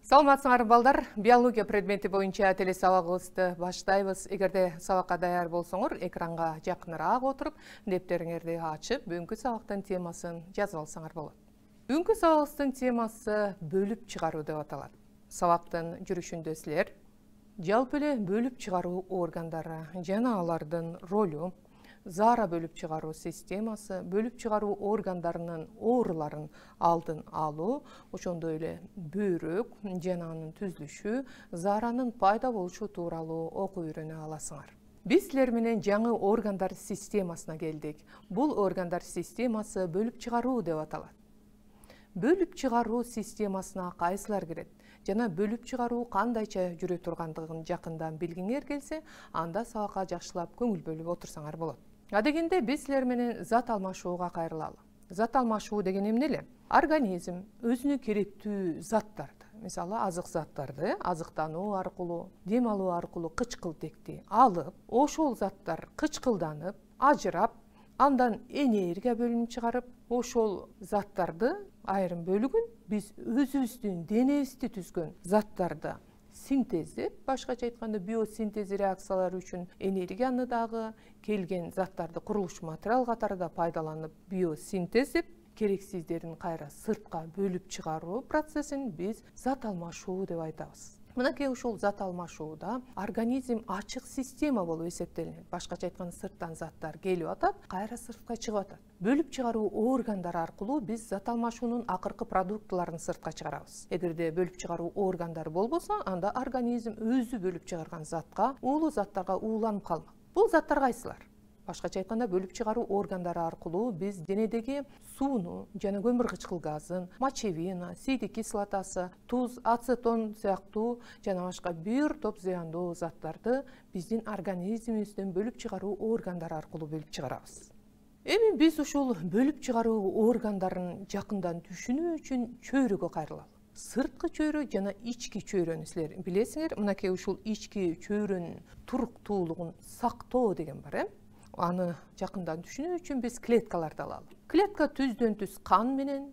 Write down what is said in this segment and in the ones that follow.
Саламатсыңар балдар, биология предмети боюнча телесабагыбызды баштайбыз. Эгерде сабакка даяр болсоңор, экранга жакыныраак отуруп, дептериңерди ачып, бүгүнкү сабактын темасын жазып алсаңар болот. Бүгүнкү сабагыбыздын темасы бөлүп чыгаруу деп аталат. Сабактын жүрүшүндө силер жалпы эле бөлүп чыгаруу органдары жана алардын ролу, заара бөлүп чыгаруу системасы, бөлүп чыгаруу органдарынын ооруларын алдын алуу, ошондой эле бөйрөк жана анын түзүлүшү, зааранын пайда болушу тууралуу окуп үйрөнө аласыңар. Биз силер менен жаңы органдар системасына келдик. Бул органдар системасы бөлүп чыгаруу деп аталат. Бөлүп чыгаруу системасына кайсылар кирет жана бөлүп чыгаруу кандайча жүрө тургандыгын жакындан билгиңер келсе, анда сабакка жакшылап көңүл бөлүп отурсаңар болот. Адегенде биз силер менен зат алмашууга кайрылалы. Зат алмашуу деген эмне эле? Организм өзүнө керектүү заттарды, мисалы азык заттарды азыктануу аркылуу, дем алуу аркылуу кычкылтекти алып, ошол заттар кычкылданып, ажырап, андан энергия бөлүнүп чыгарып, ошол заттарды айрым бөлүгүн биз өзүбүздүн денебизди түзгөн заттарды синтездеп, башкача айтканда биосинтез реакциялары үчүн энергияны дагы келген заттарды курулуш материал катарында пайдаланып биосинтез деп керексиздерин кайра сыртка бөлүп чыгаруу процессин биз зат алмашуу деп айтабыз. Мынакей ушул зат алмашууда организм ачык система болуп эсептелинет. Башкача айтканда сырттан заттар келип атат, кайра сыртка чыгып атат. Бөлүп чыгаруу органдары аркылуу биз зат алмашуунун акыркы продуктыларын сыртка чыгарабыз. Эгерде бөлүп чыгаруу органдары болбосо, анда организм өзү бөлүп чыгарган затка, уулуу заттарга ууланып калмак. Бул заттар кайсылар? Башкача айтканда бөлүп чыгаруу органдары аркылуу биз денедеги сууну жана көмүр кычкыл газын, мочевина, сийдик кислотасы, туз, ацетон сыяктуу жана башка бир топ зыяндуу заттарды биздин организмибизден бөлүп чыгаруу органдары аркылуу бөлүп чыгарабыз. Эми биз ушул бөлүп чыгаруу органдарын жакындан түшүнүү үчүн чөйрөгө кайрылалы. Сырткы чөйрө жана ички чөйрөнү силер билесиңер. Мынакей ушул ички чөйрөнүн туруктуулугун сактоо деген бар, Аны жакындан түшүнүү үчүн биз клеткаларды алалы. Клетка түздөн түз кан менен,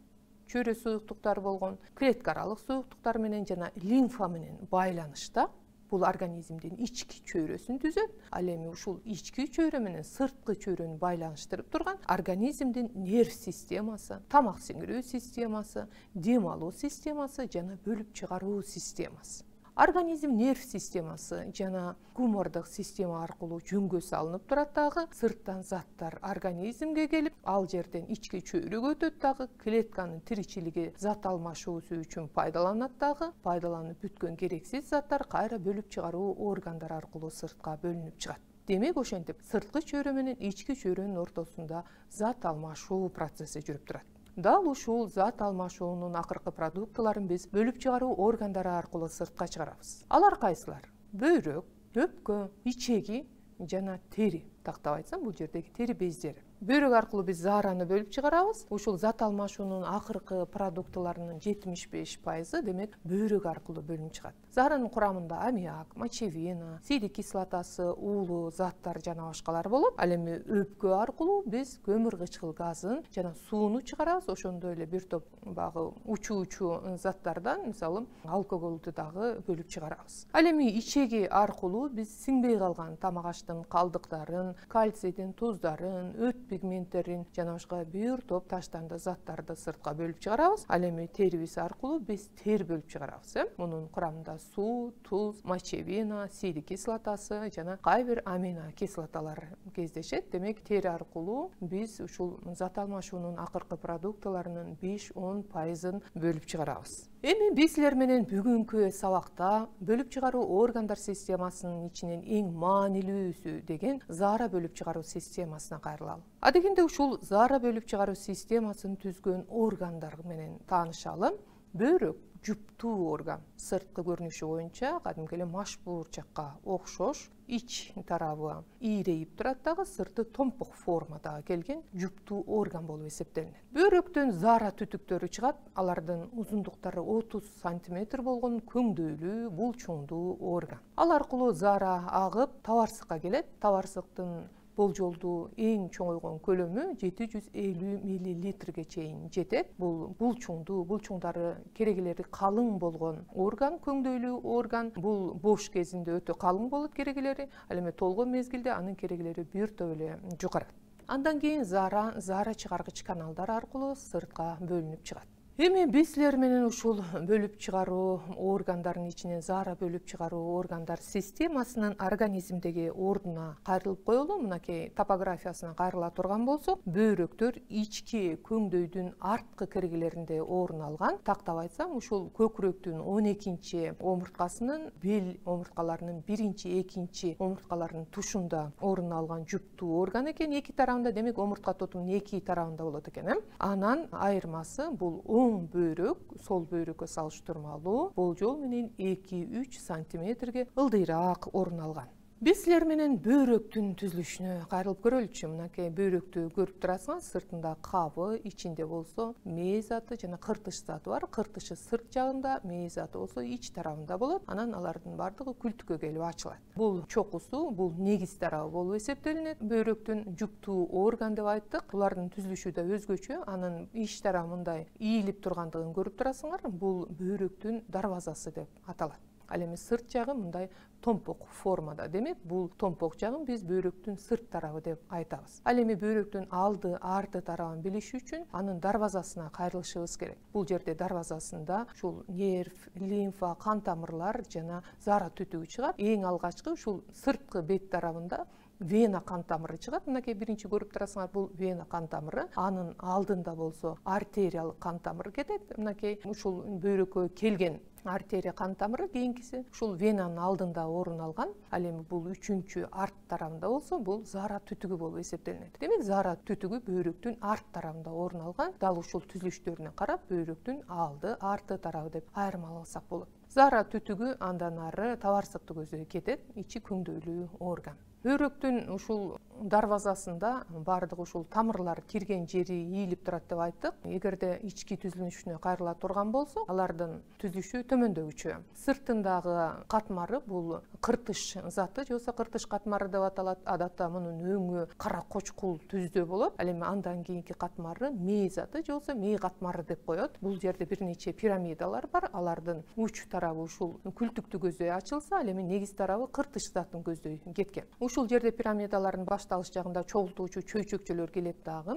чөйрө суюктуктары болгон, клетка аралык суюктуктар менен жана лимфа менен байланышта. Бул организмдин ички чөйрөсүн түзөт. Ал эми ушул ички чөйрө менен сырткы чөйрөнү байланыштырып турган организмдин нерв системасы, тамак сиңирүү системасы, дем алуу системасы жана бөлүп чыгаруу системасы. Организм нерв системасы жана гумордук система аркылуу жөнгө салынып турат дагы, сырттан заттар организмге келип, ал жерден ички чөйрөгө өтөт дагы, клетканын тиричилиги зат алмашуусу үчүн пайдаланат дагы, пайдаланып бүткөн керексиз заттар кайра бөлүп чыгаруу органдары аркылуу сыртка бөлүнүп чыгат. Демек, ошентип сырткы чөйрө менен ички чөйрөнүн ортосунда зат алмашуу процесси жүрүп турат. Дал ушул зат алмашуунун акыркы продуктыларын биз бөлүп чыгаруу органдары аркылуу сыртка чыгарабыз. Алар кайсылар? Бөйрөк, өпкө, ичеги жана тери. Тактап айтсам, бул жердеги тери бездери. Бөйрөк аркылуу биз заараны бөлүп чыгарабыз. Ушул зат алмашуунун акыркы продуктыларынын 75% демек бөйрөк аркылуу бөлүнүп чыгат. Зааранын курамында аммиак, мочевина, сийдик кислотасы, уулуу заттар жана башкалар болот. Ал эми өпкө аркылуу биз көмүр кычкыл газын жана сууну чыгарабыз. Ошондой эле бир топ багы учуучу заттардан, мисалы, алкоголду дагы бөлүп чыгарабыз. Ал эми ичеги аркылуу биз сиңбей калган тамак аштын калдыктарын, кальцийдин туздарын, өт пигменттерин жана башка бир топ таштанды заттарды сыртка бөлүп чыгарабыз. Ал эми терибиз аркылуу биз тер бөлүп чыгарабыз. Мунун курамында суу, туз, мочевина, сийдик кислотасы жана кайбир амино кислоталар кездешет. Демек, тери аркылуу биз ушул зат алмашуунун акыркы продуктыларынын 5-10% бөлүп чыгарабыз. Эми биз силер менен бүгүнкү сабакта бөлүп чыгаруу органдар системасынын ичинен эң маанилүүсү деген заара бөлүп чыгаруу системасына кайрылалы. Адегенде ушул заара бөлүп чыгаруу системасын түзгөн органдар менен таанышалы. Бөйрөк жуптуу орган. Сырткы көрүнүшү боюнча кадимки эле маш буурчакка окшош, ич тарабы ийрейип турат дагы, сырты томпук формада келген жуптуу орган болуп эсептелинет. Бөйрөктөн заара түтүктөрү чыгат. Алардын узундуктары 30 см болгон көңдөйлүү, булчуңдуу орган. Ал аркылуу заара агып, табарсыкка келет. Табарсыктын болжолдуу эң чоңойгон көлөмү 750 миллилитрге чейин жетет. Бул булчуңдуу, булчуңдары керегелери калың болгон орган, көңдөйлүү орган. Бул бош кезинде өтө калың болот керегелери, ал эми толгон мезгилде анын керегелери биртөп эле жугарат. Андан кийин заара чыгаргыч каналдар аркылуу сыртка бөлүнүп чыгат. Эми биз силер менен ушул бөлүп чыгаруу органдардын ичинен заара бөлүп чыгаруу органдар системасынын организмдеги ордуна кайрылып коелу. Мынакей топографиясына кайрыла турган болсок, бөйрөктөр ички көңдөйдүн арткы киргилеринде орун алган. Тактап айтсам, ушул көкүрөктүн 12-чи омурткасынын бел омурткаларынын 1-чи, 2-чи омурткаларынын тушунда орун алган жуптуу орган экен. Эки тарабында, демек омуртка тотунун эки тарабында болот экен. Анан айырмасы бул оң бөйрөк сол бөйрөккө салыштырмалуу болжол менен 2-3 сантиметрге ылдыйраак орун алган. Биз силер менен бөйрөктүн түзүлүшүнө кайрылып көрөлүчү. Мынакей бөйрөктү көрүп турасыңар, сыртында кабы, ичинде болсо мээ заты жана кыртыш заты бар. Кыртышы сырт жагында, мээ заты болсо ич тарабында болот. Анан алардын бардыгы күлтүккө келип ачылат. Бул чокусу, бул негиз тарабы болуп эсептелинет. Бөйрөктүн жуптуу орган деп айттык. Булардын түзүлүшү да өзгөчө. Анын ич тарабы мындай ийилип тургандыгын көрүп турасыңар. Бул бөйрөктүн дарбазасы деп аталат. Ал эми сырт жагы мындай томпок формада. Демек, бул томпок жагын биз бөйрөктүн сырт тарабы деп айтабыз. Ал эми бөйрөктүн алды, арты тарабын билиш үчүн анын дарбазасына кайрылышыбыз керек. Бул жерде дарбазасында ушул нерв, лимфа, кан тамырлар жана заара түтүгү чыгат. Эң алгачкы ушул сырткы бет тарабында вена кан тамыры чыгат. Мынакей биринчи көрүп турасыңар, бул вена кан тамыры. Анын алдында болсо артериялык кан тамыр кетет. Мынакей ушул бөйрөккө келген артерия кан тамыры, кийинкиси ушул венанын алдында орун алган. Ал эми бул үчүнчү арт тарабында болсо, бул заара түтүгү болуп эсептелинет. Демек, заара түтүгү бөйрөктүн арт тарабында орун алган. Дал ушул түзүлүштөрүнө карап, бөйрөктүн алды, арты тарабы деп айырмаласак болот. Заара түтүгү андан ары табарсыкты көздөй кетет, ичи көңдөйлүү орган. Бөйрөктүн ушул дарбазасында бардык ушул тамырлар кирген жери ийилип турат деп айттык. Эгерде ички түзүлүшүнө кайрыла турган болсо, алардын түзүлүшү төмөндөгүчө. Сыртындагы катмары бул кыртыш заты же болбосо кыртыш катмары деп аталат. Адатта мунун өңү кара кочкул түздө болот. Ал эми андан кийинки катмары мээ заты же болбосо мээ катмары деп коет. Бул жерде бир нече пирамидалар бар. Алардын уч тарабы ушул күлтүктү көздөй ачылса, ал эми негиз тарабы кыртыш затын көздөй кеткен. Ушул жерде пирамидалардын башталыш жагында чогултуучу чөйчөкчөлөр келет дагы.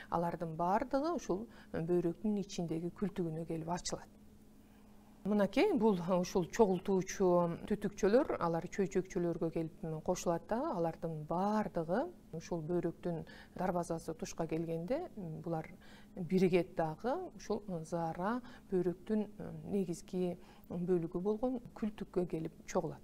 Алардын бардыгы ушул бөйрөктүн ичиндеги күлтүгүнө келип ачылат. Мынакей бул ушул чогултуучу түтүкчөлөр, алар чөйчөкчөлөргө келип кошулат дагы. Алардын бардыгы ушул бөйрөктүн дарбазасы тушка келгенде булар биригет дагы ушул заара бөйрөктүн негизги бөлүгү болгон күлтүккө келип чогулат.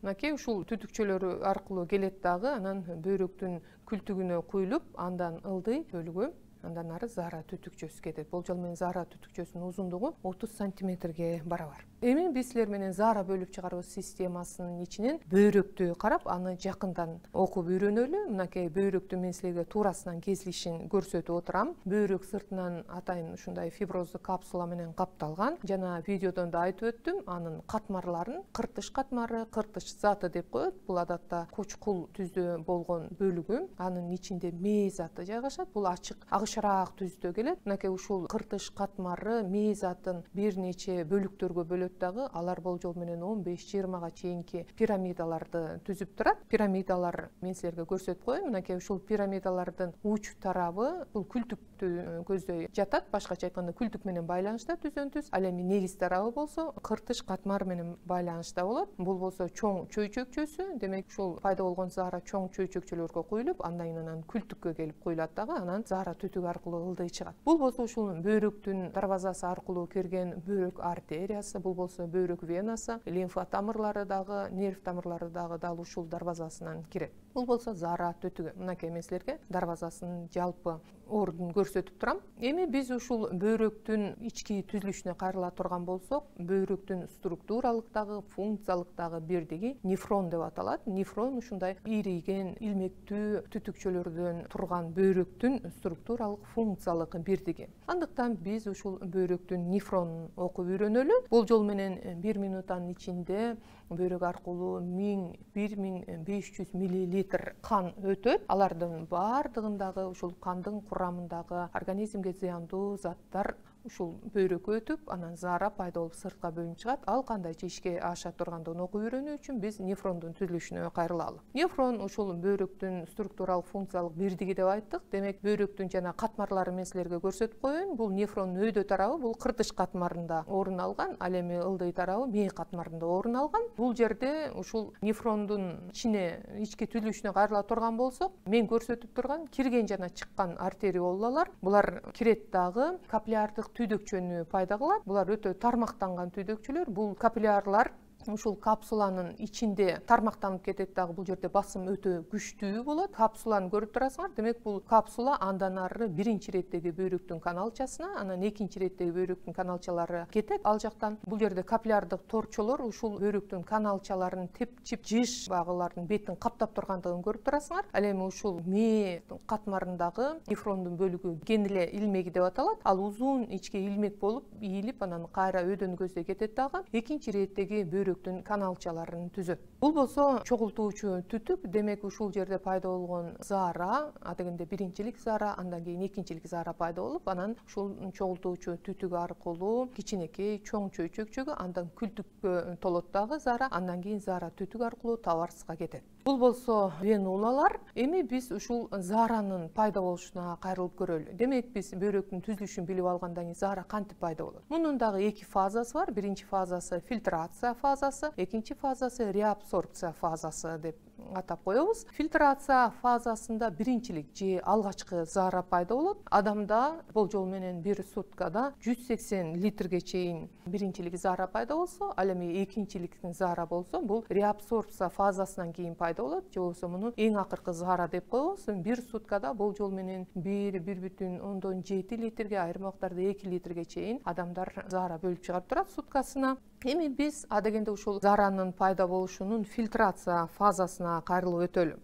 Мынакей ушул түтүкчөлөр аркылуу келет дагы, анан бөйрөктүн күлтүгүнө куюлуп, андан ылдый бөлүгү, андан ары заара түтүкчөсү кетет. Болжол менен заара түтүкчөсүнүн узундугу 30 сантиметрге барабар. Эми биз силер менен заара бөлүп чыгаруу системасынын ичинен бөйрөктү карап, аны жакындан окуп үйрөнөлү. Мынакей бөйрөктү мен силерге туурасынан кесилишин көрсөтүп отурам. Бөйрөк сыртынан атайын ушундай фиброздуу капсула менен капталган. Жана видеодон да айтып өттүм, анын катмарларын кыртыш катмары, кыртыш заты деп коет. Бул адатта кочкул түздө болгон бөлүгү. Анын ичинде мээ заты жайгашат. Бул ачык агышыраак түздө келет. Мынакей ушул кыртыш катмары мээ затын бир нече бөлүктөргө бөлөт дагы. Алар болжол менен 15-20га чейинки пирамидаларды түзүп турат. Пирамидалар мен силерге көрсөтүп коеюн. Мынакей ушул пирамидалардын уч тарабы бул күлтүктү көздөй жатат. Башкача айтканда, күлтүк менен байланышта түзөн түз. Ал эми негиз тарабы болсо кыртыш катмар менен байланышта болот. Бул болсо чоң чөйчөкчөсү. Демек, ушул пайда болгон заара чоң чөйчөкчөлөргө куюлуп, андан кийин анан күлтүккө келип куюлат дагы. Анан заара түтүк аркылуу ылдый чыгат. Бул болсо ушул бөйрөктүн дарбазасы аркылуу кирген бөйрөк артериясы, бул болсо бөйрөк венасы, лимфа тамырлары дагы, нерв тамырлары дагы дал ушул дарбазасынан кирет. Бул болсо заара түтүгү. Мынакей мен силерге дарбазасынын жалпы ордун көрсөтүп турам. Эми биз ушул бөйрөктүн ички түзүлүшүнө кайрыла турган болсок, бөйрөктүн структуралык дагы, функциялык дагы бирдиги нефрон деп аталат. Нефрон ушундай ийриген, илмектүү түтүкчөлөрдөн турган бөйрөктүн структуралык, функциялык бирдиги. Андыктан биз ушул бөйрөктүн нефронун окуп үйрөнөлү. Болжол менен 1 минуттан ичинде бөйрөк аркылуу 1500 миллилитр кан өтөт. Алардын бардыгындагы ушул кандын курамындагы организмге зыяндуу заттар ушул бөйрөккө өтүп, анан заара пайда болуп сыртка бөлүнүп чыгат. Ал кандай ишке аша тургандыгын окуп үйрөнүү үчүн биз нефрондун түзүлүшүнө кайрылалы. Нефрон ушул бөйрөктүн структуралык функциялык бирдиги деп айттык. Демек, бөйрөктүн жана катмарлары мен силерге көрсөтүп коеюн. Бул нефрондун өйдө тарабы, бул кыртыш катмарында орун алган, ал эми ылдый тарабы мээ катмарында орун алган. Бул жерде ушул нефрондун ички түзүлүшүнө кайрыла турган болсок, мен көрсөтүп турган кирген жана чыккан артериолалар, булар кирет дагы капиллярдык түйдөкчөнү пайда кылат. Булар өтө тармактанган түйдөкчөлөр. Бул капиллярлар ушул капсуланын ичинде тармактанып кетет дагы. Бул жерде басым өтө күчтүү болот. Капсуланы көрүп турасыңар. Демек, бул капсула андан ары биринчи иреттеги бөйрөктүн каналчасына, анан экинчи иреттеги бөйрөктүн каналчалары кетет. Ал жактан бул жерде капиллярдык торчолор ушул бөйрөктүн каналчаларын тепчип, жыш багылардын бетин каптап тургандыгын көрүп турасыңар. Ал эми ушул мээ катмарындагы нефрондун бөлүгү гениле илмеги деп аталат. Ал узун ичке илмек болуп ийилип, анан кайра өйдөнү көздөй кетет дагы. Экинчи иреттеги бөйрөктүн каналчаларын түзөт. Бул болсо чогултуучу түтүк. Демек, ушул жерде пайда болгон заара, адегенде биринчилик заара, андан кийин экинчилик заара пайда болуп, анан ушул чогултуучу түтүк аркылуу кичинекей чоң чөйчөкчөгө, андан күлтүккө толот дагы заара, андан кийин заара түтүк аркылуу табарыска кетет. Бул болсо венулалар. Эми биз ушул зааранын пайда болушуна кайрылып көрөлү. Демек, биз бөйрөктүн түзүлүшүн билип алгандан кийин заара кантип пайда болот? Мунун дагы эки фазасы бар. Биринчи фазасы фильтрация фазасы, экинчи фазасы реабсорбция фазасы деп атап коебуз. Фильтрация фазасында биринчилик же алгачкы заара пайда болот. Адамда болжол менен бир суткада 180 литрге чейин биринчилик заара пайда болсо, ал эми экинчиликтин заара болсо, бул реабсорбция фазасынан кийин пайда болот. Же болбосо муну эң акыркы заара деп коебуз. Бир суткада болжол менен 1,7 литрге, айрым убактарда 2 литрге чейин адамдар заара бөлүп чыгарып турат суткасына. Эми биз адегенде ушул зааранын пайда болушунун фильтрация фазасына кайрылып өтөлү.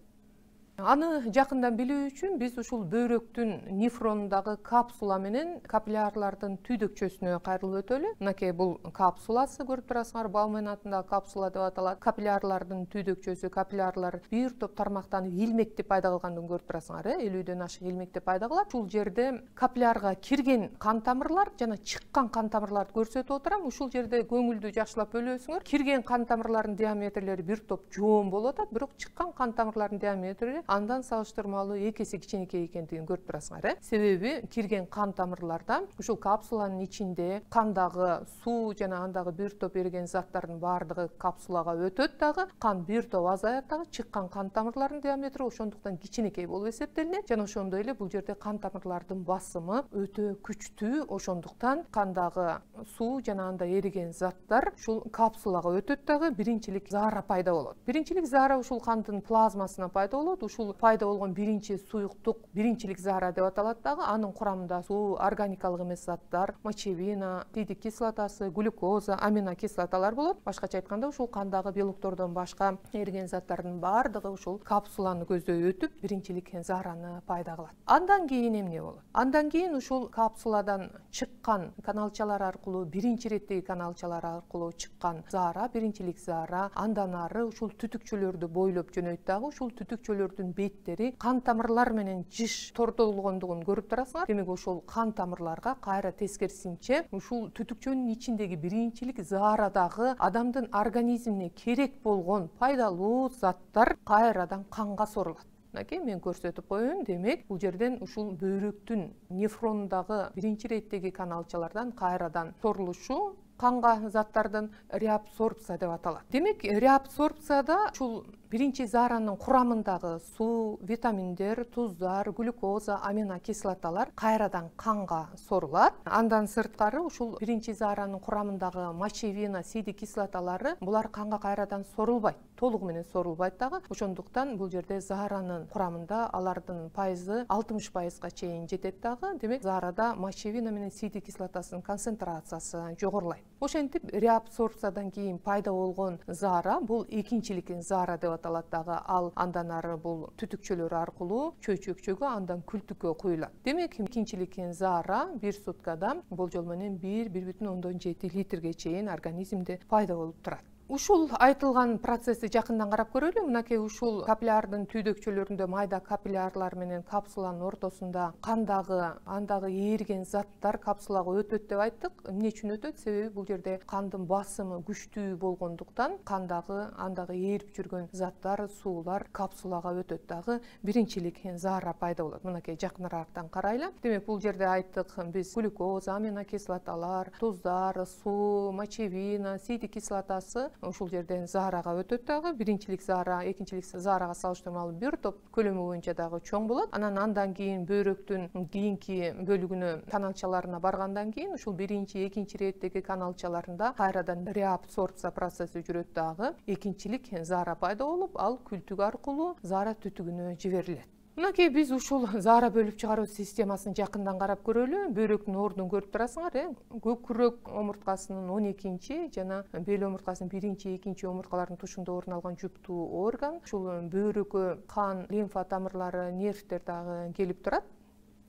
Аны жакындан билүү үчүн биз ушул бөйрөктүн нефрондагы капсула менен капиллярлардын түйдөкчөсүнө кайрылып өтөлү. Мынакей бул капсуласы, көрүп турасыңар, Баумен атындагы капсула деп аталат. Капиллярлардын түйдөкчөсү, капиллярлар бир топ тармактанып илмекти пайда кылгандыгын көрүп турасыңар. 50дөн ашык илмекти пайда кылат. Ушул жерде капиллярга кирген кан тамырлар жана чыккан кан тамырларды көрсөтүп отурам. Ушул жерде көңүлдү жакшылап бөлөсүңөр. Кирген кан тамырлардын диаметрлери бир топ жоон болуп атат, бирок чыккан кан тамырлардын диаметри андан салыштырмалуу эки эсе кичинекей экендигин көрүп турасыңар. Себеби кирген кан тамырларда ушул капсуланын ичинде кандагы суу жана андагы бир топ эриген заттардын баардыгы капсулага өтөт дагы, кан бир топ азаят дагы, чыккан кан тамырларынын диаметри ошондуктан кичинекей болуп эсептелинет. Жана ошондой эле бул жерде кан тамырлардын басымы өтө күчтүү, ошондуктан кандагы суу жана анда эриген заттар ушул капсулага өтөт дагы, биринчилик заара пайда болот. Биринчилик заара ушул кандын плазмасына пайда болот. Ушул пайда болгон биринчи суюктук биринчилик заара деп аталат дагы. Анын курамында суу, органикалык эмес заттар, мочевина, тидик кислотасы, глюкоза, аминокислоталар болот. Башкача айтканда, ушул кандагы белоктордон башка эриген заттардын баардыгы ушул капсуланы көздөй өтүп, биринчилик заараны пайда кылат. Андан кийин эмне болот? Андан кийин ушул капсуладан чыккан каналчалар аркылуу, биринчи иреттеги каналчалар аркылуу чыккан заара, биринчилик заара, андан ары ушул түтүкчөлөрдү бойлоп жөнөйт дагы. Ушул түтүкчөлөрдүн беттери кан тамырлар менен жыш тортолгондугун көрүп турасыңар. Демек, ошол кан тамырларга кайра тескерисинче ушул түтүкчөнүн ичиндеги биринчилик заарадагы адамдын организмине керек болгон пайдалуу заттар кайрадан канга сорулат. Мынакей мен көрсөтүп коеюн. Демек, бул жерден ушул бөйрөктүн нефрондагы биринчи иреттеги каналчалардан кайрадан сорулушу канга заттардын реабсорбция деп аталат. Демек, реабсорбцияда ушул биринчи зааранын курамындагы суу, витаминдер, туздар, глюкоза, аминокислоталар кайрадан канга сорулат. Андан сырткары ушул биринчи зааранын курамындагы мочевина, сидик кислоталары булар канга кайрадан сорулбайт, толугу менен сорулбайт дагы. Ошондуктан бул жерде зааранын курамында алардын пайызы 60%га чейин жетет дагы. Демек, заарада мочевина менен сидик кислотасынын концентрациясы жогорулайт. Ошентип, реабсорбциядан кийин пайда болгон заара бул экинчилик заара деп аталат дагы. Ал андан ары бул түтүкчөлөр аркылуу чөйчөкчөгө, андан күлтүккө куюлат. Демек, экинчилик заара бир суткада болжол менен 1,7 литрге чейин организмде пайда болуп турат. Ушул айтылган процессти жакындан карап көрөлү. Мынакей ушул капиллярдын түйдөкчөлөрүндө майда капиллярлар менен капсуланын ортосунда андагы ээрген заттар капсулага өтөт деп айттык. Эмне үчүн өтөт? Себеби бул жерде кандын басымы күчтүү болгондуктан андагы ээрип жүргөн заттар, суулар капсулага өтөт дагы биринчилик заара пайда болот. Мынакей жакыныраактан карайлы. Демек бул жерде айттык биз глюкоза, аминокислоталар, туздар, суу, мочевина, сийдик кислотасы ушул жерден заарага өтөт дагы. Биринчилик заара, экинчилик заарага салыштырмалуу бир топ көлөмү боюнча дагы чоң болот. Андан кийин бөйрөктүн кийинки бөлүгүнө каналчаларына баргандан кийин ушул биринчи, экинчи иреттеги каналчаларында кайрадан реабсорбция процесси жүрөт дагы. Экинчилик заара пайда болуп, ал күлтүк аркылуу заара түтүгүнө жиберилет. Мынакей биз ушул заара бөлүп чыгаруу системасын жакындан карап көрөлү. Бөйрөктүн ордун көрүп турасыңар, көкүрөк омурткасынын 12-чи жана бел омурткасынын 1-чи, 2-чи омурткаларынын тушунда орун алган жуптуу орган. Ушул бөйрөккө кан, лимфа тамырлары, нервтер дагы келип турат.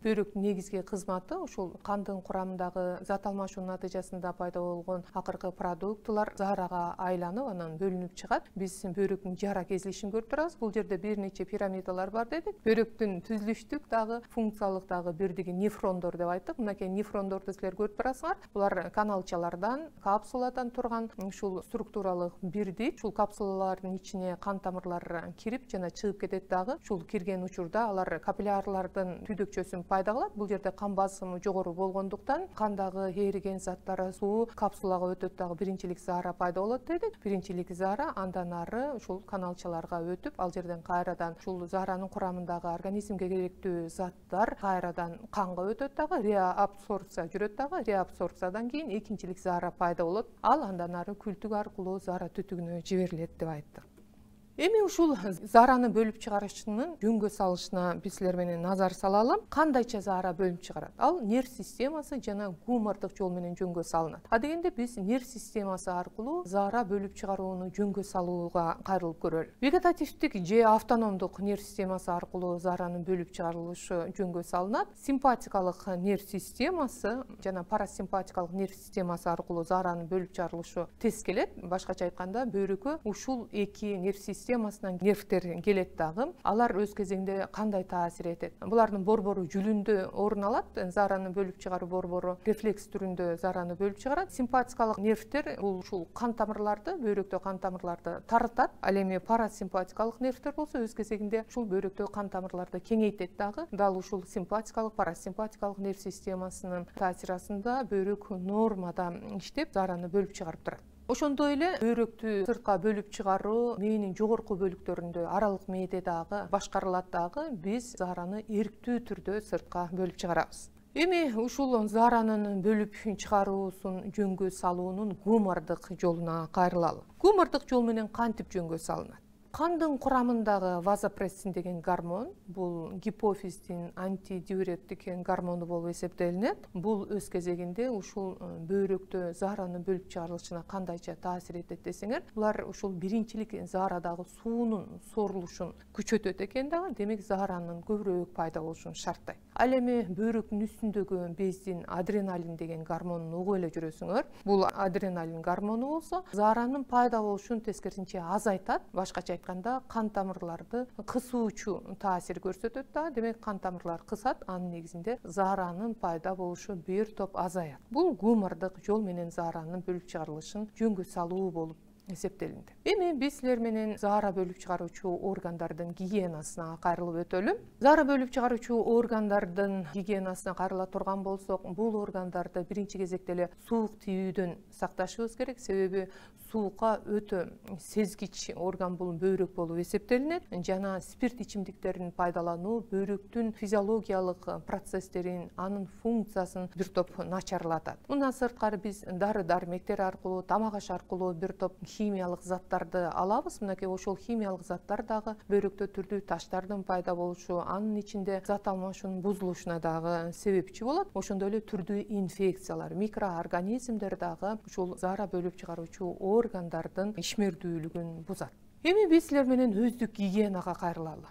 Бөйрөктүн негизги кызматы ушул кандын курамындагы зат алмашуунун натыйжасында пайда болгон акыркы продуктылар заарага айланып, анан бөлүнүп чыгат. Биз бөйрөктүн жара кезилишин көрүп турабыз. Бул жерде бир нече пирамидалар бар дедик. Бөйрөктүн түзүлүштүк дагы, функциялык дагы бирдиги нефрондор деп айттык. Мынакей нефрондорду силер көрүп турасыңар. Булар каналчалардан, капсуладан турган ушул структуралык бирдик. Ушул капсулалардын ичине кан тамырлар кирип жана чыгып кетет дагы. Ушул кирген учурда алар капиллярлардын түйдөкчөсүн пайда кылат. Бул жерде кан басымы жогору болгондуктан кандагы ээриген заттар, суу капсулага өтөт дагы биринчилик заара пайда болот дедик. Биринчилик заара андан ары ушул каналчаларга өтүп, ал жерден кайрадан ушул зааранын курамындагы организмге керектүү заттар кайрадан канга өтөт дагы, реабсорбция жүрөт дагы. Реабсорбциядан кийин экинчилик заара пайда болот. Ал андан ары күлтүк аркылуу заара түтүгүнө жиберилет деп айттык. Эми ушул заараны бөлүп чыгарышынын жөнгө салышына биз силер менен назар салалы. Кандайча заара бөлүнүп чыгарат? Ал нерв системасы жана гумордук жол менен жөнгө салынат. Дегенде биз нерв системасы аркылуу заара бөлүп чыгарууну жөнгө салууга кайрылып көрөлү. Вегетативдик же автономдук нерв системасы аркылуу зааранын бөлүп чыгарылышы жөнгө салынат. Симпатикалык нерв системасы жана парасимпатикалык нерв системасы аркылуу зааранын бөлүп чыгарылышы тез келет. Башкача айтканда, бөйрөккө ушул эки нерв системасынан нервтер келет дагы. Алар өз кезегинде кандай таасир этет? Булардын борбору жүлүндө орун алат. Заараны бөлүп чыгаруу борбору рефлекс түрүндө заараны бөлүп чыгарат. Симпатикалык нервтер бул ушул кан тамырларды, бөйрөктө кан тамырларды тарытат. Ал эми парасимпатикалык нервтер болсо өз кезегинде ушул бөйрөктө кан тамырларды кеңейтет дагы. Дал ушул симпатикалык, парасимпатикалык нерв системасынын таасири астында бөйрөк нормада иштеп заараны бөлүп чыгарып турат. Ошондой эле бөйрөктү сыртка бөлүп чыгаруу мээнин жогорку бөлүктөрүндө, аралык мээде дагы башкарылат дагы. Биз заараны эрктүү түрдө сыртка бөлүп чыгарабыз. Эми ушул зааранын бөлүп чыгаруусун жөнгө салуунун гумордук жолуна кайрылалы. Гумордук жол менен кантип жөнгө салынат? Кандын курамындагы вазопрессин деген гормон, бул гипофиздин антидиуреттик гормону болуп эсептелинет. Бул өз кезегинде ушул бөйрөктө заараны бөлүп чыгарылышына кандайча таасир этет десеңер, булар ушул биринчилик заарадагы суунун сорулушун күчөтөт экен дагы. Демек зааранын көбүрөөк пайда болушун шарттайт. Ал эми бөйрөктүн үстүндөгү бездин адреналин деген гормонун угуп эле жүрөсүңөр. Бул адреналин гормону болсо зааранын пайда болушун тескерисинче азайтат. Башкача айтканда, кан тамырларды кысуучу таасир көрсөтөт да. Демек кан тамырлар кысат, анын негизинде зааранын пайда болушу бир топ азаят. Бул гумордук жол менен зааранын бөлүп чыгарылышын жөнгө салуу болуп эсептелинди. Эми биз силер менен заара бөлүп чыгаруучу органдардын гигиенасына кайрылып өтөлү. Заара бөлүп чыгаруучу органдардын гигиенасына кайрыла турган болсок, бул органдарды биринчи кезекте эле суук тийүүдөн сакташыбыз керек. Себеби суукка өтө сезгич орган бул бөйрөк болуп эсептелинет. Жана спирт ичимдиктерин пайдалануу бөйрөктүн физиологиялык процесстерин, анын функциясын бир топ начарлатат. Мындан сырткары биз дары-дармектер аркылуу, тамак аш аркылуу бир топ химиялык заттарды алабыз. Мынакей ошол химиялык заттар дагы бөйрөктө түрдүү таштардын пайда болушу, анын ичинде зат алмашуунун бузулушуна дагы себепчи болот. Ошондой эле түрдүү инфекциялар, микроорганизмдер дагы ушул заара бөлүп чыгаруучу органдардын ишмердүүлүгүн бузат. Эми биз силер менен өздүк гигиенага кайрылалы.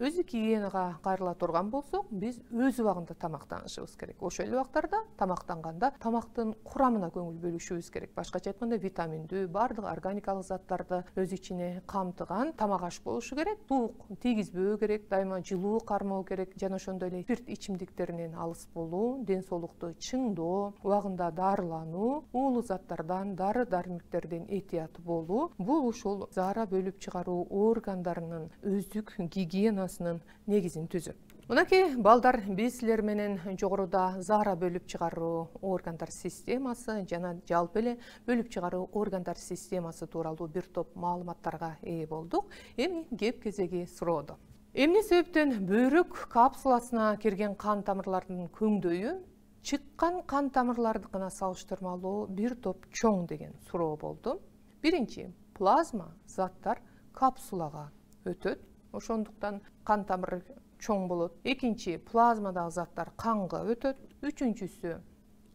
өздүк гигиенага кайрыла турган болсок, биз өз убагында тамактанышыбыз керек. Ошол эле убактарда тамактанганда тамактын курамына көңүл бөлүшүбүз керек. Башкача айтканда, витаминдүү, бардык органикалык заттарды өз ичине камтыган тамак аш болушу керек. Суук тийгизбөө керек, дайыма жылуу кармоо керек, жана ошондой эле спирт ичимдиктеринен алыс болуу, ден соолукту чыңдоо, убагында дарылануу, уулуу заттардан, дары-дармектерден этият болуу. Бул ушул заара бөлүп чыгаруу органдарынын өздүк гигиенасынын негизин түзөт. Мынакей балдар, биз силер менен жогоруда заара бөлүп чыгаруу органдар системасы жана жалпы эле бөлүп чыгаруу органдар системасы тууралуу бир топ маалыматтарга ээ болдук. Эми кеп кезеги суроодо. Эмне себептен бөйрөк капсуласына кирген кан тамырлардын көңдөйү чыккан кан тамырлардыкына салыштырмалуу бир топ чоң деген суроо болду. Биринчи, плазма заттар капсулага өтөт, ошондуктан кан тамыры чоң болот. Экинчи, плазмадагы заттар канга өтөт. Үчүнчүсү,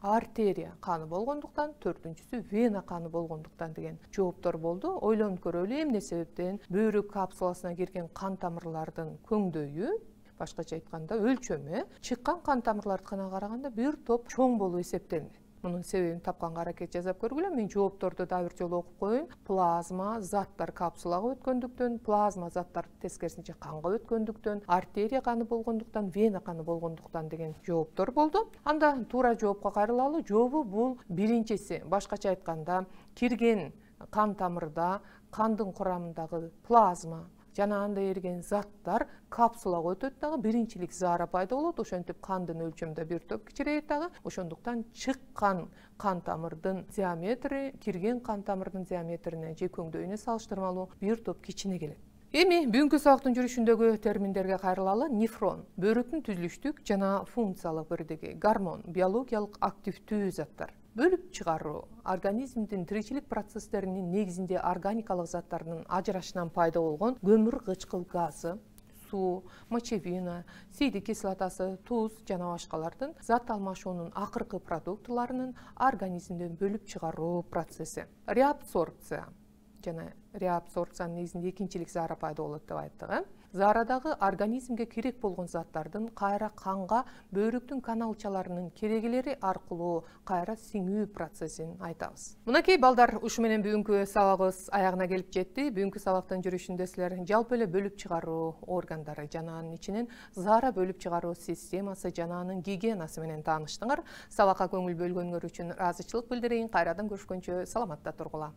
артерия каны болгондуктан, төртүнчүсү вена каны болгондуктан деген жооптор болду. Ойлонуп көрөлү, эмне себептен бөйрөк капсуласына кирген кан тамырлардын көңдөйү, башкача айтканда өлчөмү, чыккан кан тамырлардыкына караганда бир топ чоң болуп эсептелди. Мунун себебин тапканга аракет жасап көргүлө. Мен жоопторду да бир жолу окуп коеюн. Плазма заттар капсулага өткөндүктөн, плазма заттар тескерисинче канга өткөндүктөн, артерия каны болгондуктан, вена каны болгондуктан деген жооптор болду. Анда туура жоопко кайрылалы. Жообу бул биринчиси. Башкача айтканда, кирген кан тамырда кандын курамындагы плазма жана анда эрген заттар капсулага өтөт дагы, биринчилик заара пайда болот. Ошентип кандын өлчөмү бир топ кичирейет дагы. Ошондуктан чыккан кан тамырдын диаметри кирген кан тамырдын диаметрине же көңдөйүнө салыштырмалуу бир топ кичине келет. Эми бүгүнкү сабактын жүрүшүндөгү терминдерге кайрылалы. Нефрон бөйрөктүн түзүлүштүк жана функциялык бирдиги, гормон биологиялык активдүү заттар. Бөлүп чыгаруу организмдин тиричилик процесстеринин негизинде органикалык заттардын ажырашынан пайда болгон көмүр кычкыл газы, суу, мочевина, сейдик кислотасы, туз жана башкалардын зат алмашуунун акыркы продуктыларынын организмден бөлүп чыгаруу процесси. Реабсорбция жана реабсорбциянын негизинде экинчилик заара пайда болот деп айттык. Заарадагы организмге керек болгон заттардын кайра канга бөйрөктүн каналчаларынын керегелери аркылуу кайра сиңүү процессин айтабыз. Мынакей балдар, ушу менен бүгүнкү сабагыбыз аягына келип жетти. Бүгүнкү сабактын жүрүшүндө силер жалпы эле бөлүп чыгаруу органдары жана анын ичинен заара бөлүп чыгаруу системасы жана анын гигиенасы менен тааныштыңар. Сабакка көңүл бөлгөнүңөр үчүн ыраазычылык билдирейин. Кайрадан көрүшкөнчө саламатта тургула.